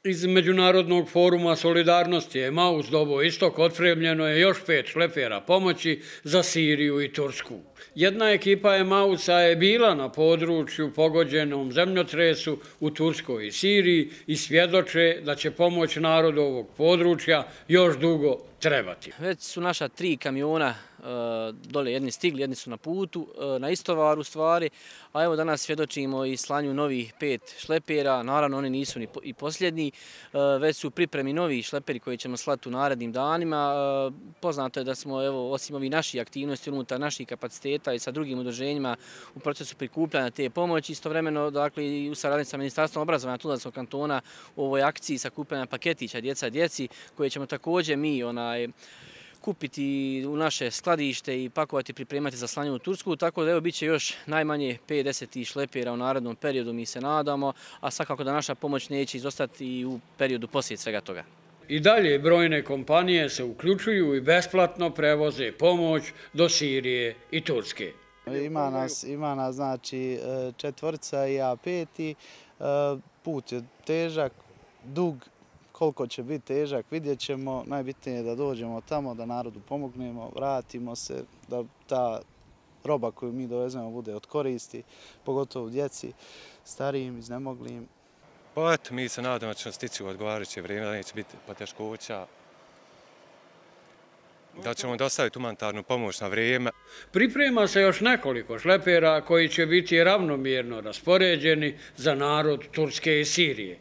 Iz Međunarodnog foruma solidarnosti Emaus Dobo Istok otpremljeno je još 5 šlepera pomoći za Siriju i Tursku. Jedna ekipa Emausa je bila na području pogođenom zemljotresu u Turskoj i Siriji i svjedoče da će pomoć narodu ovog područja još dugo trebati. Već su naša 3 kamiona dole, jedni stigli, jedni su na putu, na istovaru stvari, a evo danas svjedočimo i slanju novih 5 šlepera, naravno oni nisu i posljednji, već su u pripremi novi šleperi koji ćemo slati u narednim danima. Poznato je da smo, evo, osim ovih naših aktivnosti unutar naših kapaciteta i sa drugim udruženjima u procesu prikupljanja te pomoći, istovremeno, dakle, i u saradnji sa Ministarstvom obrazovanja Tuzlanskog kantona u ovoj akciji sakupljanja paketića djeca djeci, koje ćemo također mi kupiti u naše skladište i pakovati, pripremati za slanje u Tursku, tako da evo bit će još najmanje 50 šlepera u narednom periodu, mi se nadamo, a svakako da naša pomoć neće izostati i u periodu poslije svega toga. I dalje brojne kompanije se uključuju i besplatno prevoze pomoć do Sirije i Turske. Ima nas znači 4 i ja 5. Put je težak, dug. Koliko će biti težak, vidjet ćemo. Najbitnije je da dođemo tamo, da narodu pomognemo, vratimo se, da ta roba koju mi dovezemo bude od koristi, pogotovo djeci, starijim, iznemoglim. Pa eto, mi se nadamo da ćemo stići u odgovarajuće vrijeme, da neće biti poteškoća, da ćemo dostaviti humanitarnu pomoć na vrijeme. Priprema se još nekoliko šlepera koji će biti ravnomjerno raspoređeni za narod Turske i Sirije.